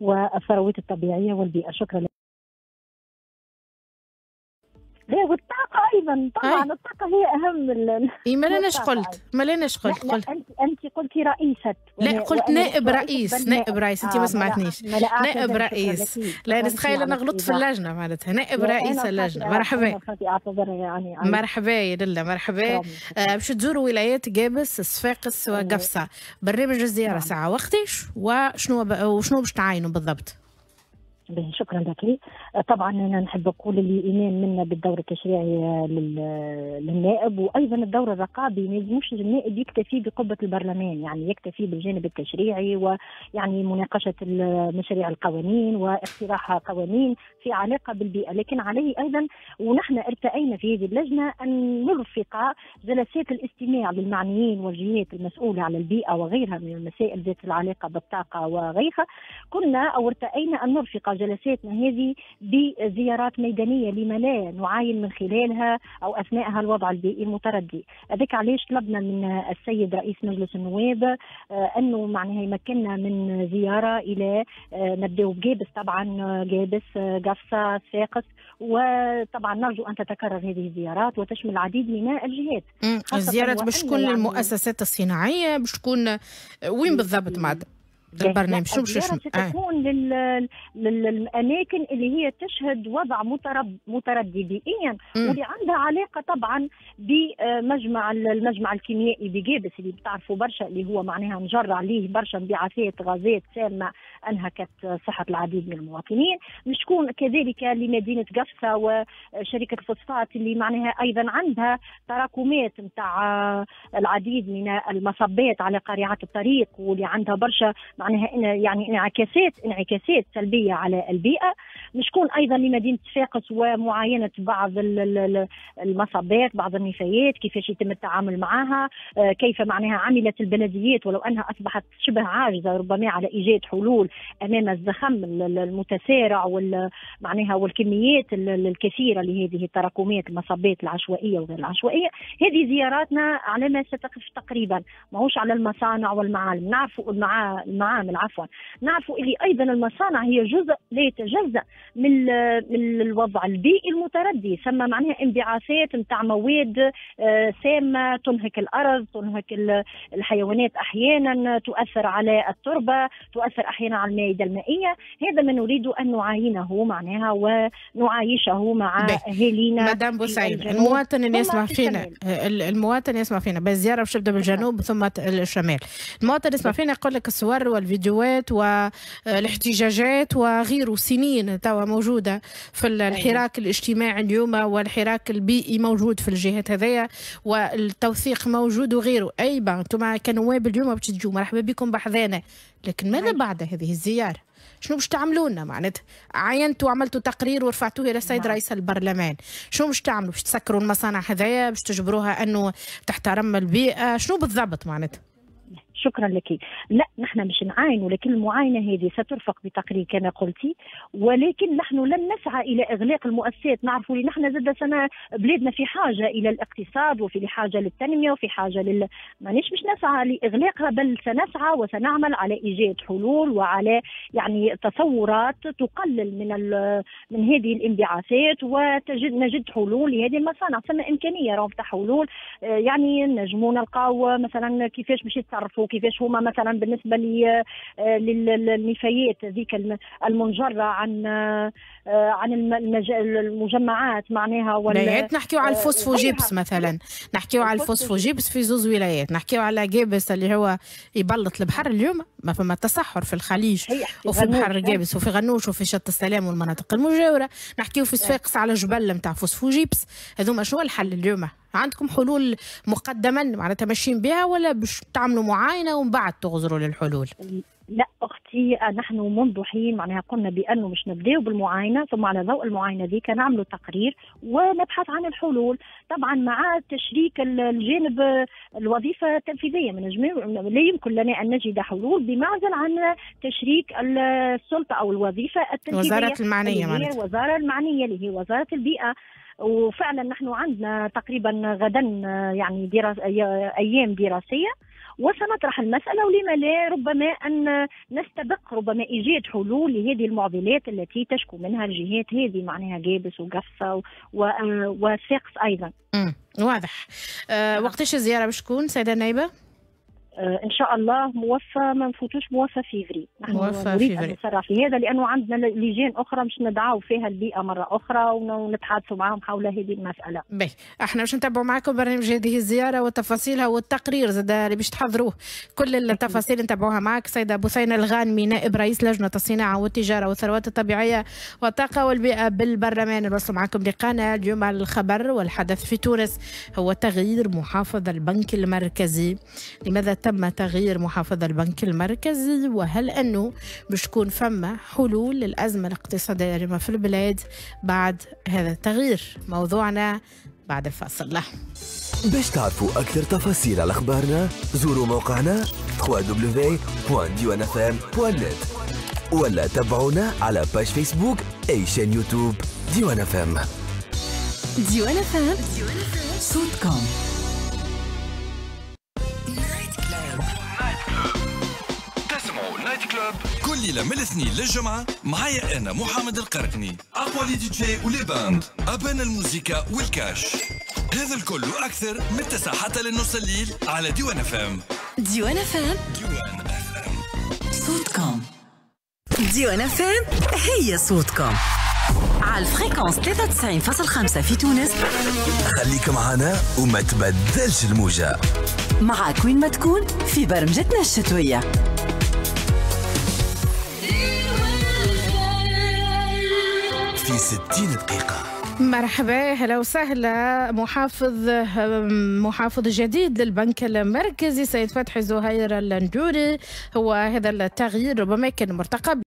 والثروات الطبيعية والبيئة. شكرا لك. لا، والطاقة أيضا طبعا. الطاقة هي أهم. إيه، ما لناش قلت، ما لناش قلت. قلت أنت قلتي رئيسة. لا، قلت نائب رئيس، نائب رئيس. أنت ما سمعتنيش. نائب رئيس. لا، نتخيل أنا غلطت في اللجنة، معناتها نائب رئيس اللجنة. مرحبا. يعني مرحبا يا للا، مرحبا. باش تزوروا ولايات قابس، صفاقس وقفصة. برنامج الزيارة ساعة وقتاش وشنو باش تعاينوا بالضبط؟ شكرا لك. طبعا انا نحب نقول اللي ايمان منا بالدور التشريعي للنائب وايضا الدور الرقابي. ما يلزموش النائب يكتفي بقبه البرلمان، يعني يكتفي بالجانب التشريعي ويعني مناقشة مشاريع القوانين واقتراح قوانين في علاقة بالبيئه، لكن عليه ايضا، ونحن ارتأينا في هذه اللجنة ان نرفق جلسات الاستماع للمعنيين والجهات المسؤولة على البيئة وغيرها من المسائل ذات العلاقة بالطاقة وغيرها. كنا او ارتأينا ان نرفق جلساتنا هذه بزيارات ميدانية، لما لا نعاين من خلالها أو أثناءها الوضع البيئي المتردي. هذاك علاش طلبنا من السيد رئيس مجلس النواب أنه معناها يمكننا من زيارة إلى نبدأ بجابس، طبعا جابس، قفصة، صفاقس، وطبعا نرجو أن تتكرر هذه الزيارات وتشمل العديد من الجهات. الزيارات باش تكون يعني للمؤسسات الصناعية، باش تكون وين بالضبط معناتها؟ البرنامج شو باش تكون للاماكن اللي هي تشهد وضع متردي بيئيا، واللي عندها علاقة طبعا بمجمع المجمع الكيميائي بجابس اللي بتعرفوا برشا، اللي هو معناها مجر عليه برشا انبعاثات غازات سامة انهكت صحة العديد من المواطنين. مش تكون كذلك لمدينة قفصه وشركه الفوسفات اللي معناها ايضا عندها تراكمات نتاع العديد من المصبات على قارعات الطريق، واللي عندها برشا معناها يعني انعكاسات سلبية على البيئة. مش تكون ايضا لمدينة صفاقس ومعاينه بعض المصبات، بعض النفايات، كيفاش يتم التعامل معها، كيف معناها عملت البلديات ولو انها اصبحت شبه عاجزه ربما على ايجاد حلول امام الزخم المتسارع معناها والكميات الكثيرة لهذه التراكمات المصبات العشوائية وغير العشوائية. هذه زياراتنا على ما ستقف تقريبا، ماهوش على المصانع والمعالم. نعرفوا المعامل عفوا، نعرفوا اللي ايضا المصانع هي جزء لا يتجزا من الوضع البيئي المتردي، ثم معناها انبعاثات نتاع مواد سامة تنهك الارض، تنهك الحيوانات احيانا، تؤثر على التربة، تؤثر احيانا على المائدة المائية. هذا ما نريد ان نعاينه معناها ونعايشه مع اهالينا. مدام بوسعيد، المواطن اللي يسمع فينا، المواطن يسمع فينا بالزيارة باش تبدا بالجنوب ثم الشمال، المواطن يسمع فينا يقول لك الصور والفيديوهات والاحتجاجات وغيره سنين توا موجودة في الحراك الاجتماعي اليوم، والحراك البيئي موجود في الجهات هذيا، والتوثيق موجود وغيره. اي با انتم كنواب اليوم باش تجوا مرحبا بكم بحذانا، لكن ماذا بعد هذه الزيارة؟ شنو باش تعملوا لنا معناتها؟ عاينتوا وعملتوا تقرير ورفعتوه الى السيد رئيس البرلمان، شنو باش تعملوا؟ باش تسكروا المصانع هذايا؟ باش تجبروها انه تحترم البيئة؟ شنو بالضبط معناتها؟ شكرا لك. لا، نحن مش نعاين، ولكن المعاينة هذه سترفق بتقرير كما قلتي، ولكن نحن لن نسعى الى اغلاق المؤسسات. نعرفوا اللي نحن زاد سنة بلادنا في حاجة الى الاقتصاد وفي حاجة للتنمية وفي حاجة مانيش مش نسعى لاغلاقها، بل سنسعى وسنعمل على ايجاد حلول وعلى يعني تصورات تقلل من هذه الانبعاثات، وتجد نجد حلول لهذه المصانع. ثم امكانية راهو تاع حلول، يعني نجموا نلقاو مثلا كيفاش باش يتصرفوا، كيفاش هما مثلا بالنسبة للنفايات ذيك المنجره عن المجمعات معناها. ولايات نحكيو على الفوسفوجيبس مثلا، نحكيو على الفوسفوجيبس في زوز ولايات، نحكيو على جابس اللي هو يبلط البحر اليوم، ما فما تصحر في الخليج وفي بحر جابس وفي غنوش وفي شط السلام والمناطق المجاورة، نحكيو في صفاقس على جبل نتاع فوسفوجيبس. هذوما شنو الحل اليوم؟ عندكم حلول مقدما معناتها ماشيين بها، ولا باش تعملوا معاينة ومن بعد تغزروا للحلول؟ لا اختي، نحن منذ حين معناها قلنا بانه مش نبداو بالمعاينه، ثم على ضوء المعاينة ذيك نعملوا تقرير ونبحث عن الحلول، طبعا مع تشريك الجانب الوظيفة التنفيذية. من لا يمكن لنا ان نجد حلول بمعزل عن تشريك السلطة او الوظيفة التنفيذية، وزارة المعنية، معناتها الوزارة المعنية اللي هي وزارة البيئة. وفعلا نحن عندنا تقريبا غدا يعني ايام دراسية، وسنطرح المسألة، ولما لا ربما أن نستبق ربما إيجاد حلول لهذه المعضلات التي تشكو منها الجهات هذه، معناها قابس وقفصة وصفاقس أيضا. واضح. وقتاش الزيارة باش تكون سيدة النائبة؟ ان شاء الله موفى، ما نفوتوش موفى فيفري. نحن نريد ان نسرع في هذا لانه عندنا لجان اخرى مش ندعو فيها البيئة مرة اخرى ونتحادثوا معهم حول هذه المسالة. باهي، احنا باش نتابعوا معكم برنامج هذه الزيارة وتفاصيلها والتقرير زاد اللي باش تحضروه، كل التفاصيل نتابعوها معك سيده بثينه الغانمي، نائب رئيس لجنة الصناعة والتجارة والثروات الطبيعية والطاقة والبيئة بالبرلمان. نوصل معكم لقانا اليوم على الخبر والحدث في تونس، هو تغيير محافظ البنك المركزي. لماذا تم تغيير محافظ البنك المركزي؟ وهل أنه باش تكون فما حلول للأزمة الاقتصادية اللي في البلاد بعد هذا التغيير؟ موضوعنا بعد الفاصل. له باش تعرفوا أكثر تفاصيل على أخبارنا زوروا موقعنا www.diwanfm.net ولا تابعونا على page فيسبوك أي chaîne يوتيوب ديوان FM. ديوان FM صوتكم. كل ليلة من الاثنين للجمعة معايا أنا محمد القرقني، أقوى les DJ و les bandes، أبان الموسيقى والكاش، هذا الكل وأكثر من 9 حتى للنص الليل على ديوان FM. ديوان FM، ديوان FM صوتكم. ديوان FM هي صوتكم على ال fréquence 93.5 في تونس. خليك معنا وما تبدلش الموجة، معاك وين ما تكون في برمجتنا الشتوية. في 60 دقيقة. مرحبا، هلا وسهلا. محافظ جديد للبنك المركزي سيد فتحي زهير الندوري، هو هذا التغيير ربما كان مرتقب.